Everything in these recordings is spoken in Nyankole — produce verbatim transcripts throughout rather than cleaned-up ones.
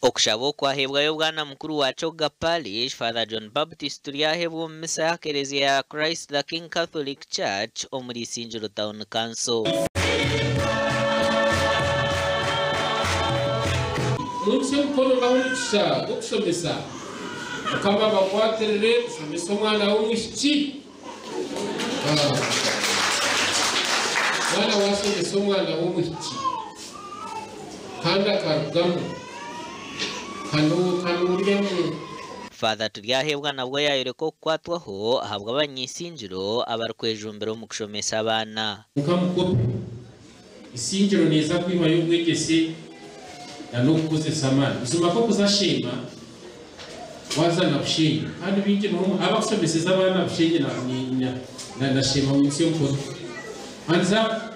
Okushaba okwahebwayo bwana mukuru wa Choga Parish Father John Baptist Turyahebwa omu misa ya Eklezia ya Christ the King Catholic Church omuri Isingiro Town Council. Mwikuse mukono ngaho gw'okushomesa mukama bakwatirire kushomesa omwana w'omwishiki. Mwana washomesa omwana w'omwishiki kandi akarugamu kanuryamu. Father Turyahebwa nabwo yayoreka okukwatwaho ahabwa abanyisingiro abarikwejumbira omu kushomesa abaana. Mukamukopi isingiro neza kwihayo obwegyese na n'okukozesa amaani. Buzima ko kuzashema wazana bushenyi kandi bingi niho abakushomeseza abaana bushenyi na na shema mu nsi y'omukono. Hanza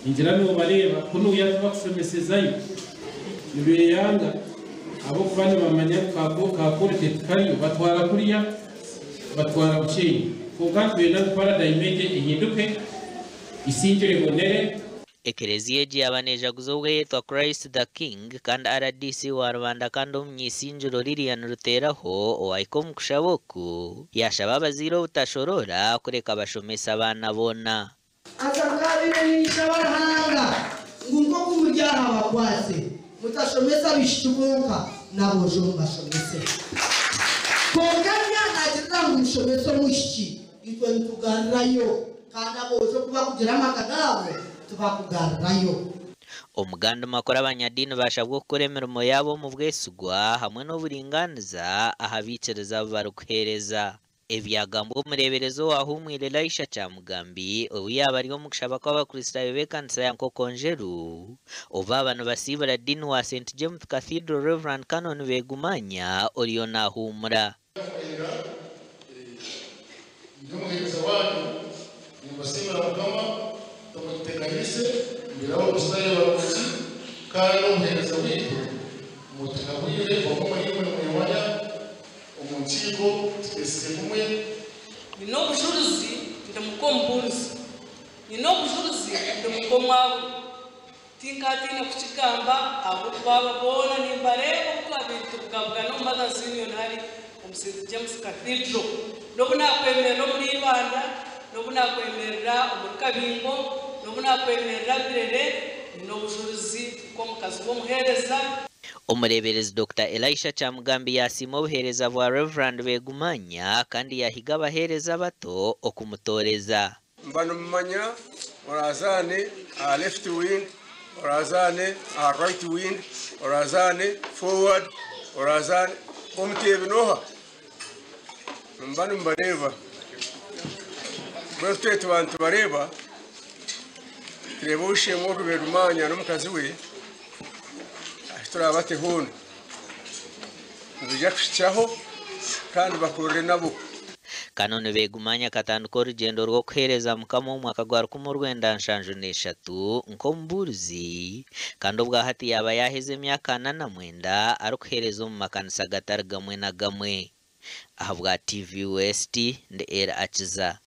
ingira nobareba kuno yabakushomesezayo nibeyanga abo kuba nibamanya kakorete kariyo batwara kuriya batwara bushenyi. Konka twena paradigm ehinduke isingiro ibonere. Eklezia egi yaba nejaguza obweyetwa Christ the King kandi R D C wa Rwanda kandi omunyisingiro Lilian Ruteraho owahika omu kushaba oku yashaba abazaire obutashorora kureka bashomesa abaana boona. Azangabire ninshaba Ruhanga ngu nk'oku muri aha bakwase mutashomesa abishiki bonka n'aboojo mubashomese. Konka nagirira ngu mushomese omwishiki itwe nitugarurayo kandi aboojo kuba kugira amaka gaabo tubakugarurayo. Omuganda makuru abanyadini bashabwa okukora emirimo yabo omu bwesigwa hamwe n'oburinganiza aha biikiriza abu barikuheereza. Ebyagambwa omureeberezi owahumwire Elisha Kyamugambi obu yaba ari omu kushaba kw'abakristaayo b'ekanisa ya Nkokonjeru obu aba nibasiibura Dean wa Saint James Cathedral Reverend Canon Begumanya oriyo naahumura. Ndi wanyu nimbasiimira Mukama tumuteganise mbiraho obusayo barungi kandi omuheereza waitu mutuhabwire omwe imwe mwewanya omu nkiiko tutesize kumwe. Nina obujuruzi ndi mukombuzi, nina obujuruzi ndi mukomwawe, tinkatiine kukigamba ahabw'okuba boona nimbareeba oku twabaire tubugabugana omu Mothers Union hari omu Saint James Cathedral. N'obu nakwemerera omuri Ibanda, n'obu nakwemerera omuri Kabingo, n'obu nakwemerera Birere, nina obujuruzi nk'omukazi w'omuheereza. Omureeberezi Doctor Elisha Kyamugambi yasiima obuheereza bwa Reverend Begumanya kandi yahiga abaheereza bato okumutooreza. Mba nimumanya orazaane aha left wing, orazaane aha right wing, orazaane forward, orazaane omuteebi n'oha? Mba nimubareeba. Bwe tuba nitubareeba tureeba oshemwe ogu Begumanya n'omukazi we turabate hoona nibija kushikyaho kandi bakorere nabo. Canon Begumanya akatandika orugyendo rw'okuheereza Mukama omu mwaka gwa rukumi orwenda nshanju n'eshatu nk'omubuurizi kandi obwa hati yaba yaheza emyaka ana na mwenda arikuheereza omu makanisa gatari gamwe na gamwe. Ahabwa T V West ndi Era Akiza.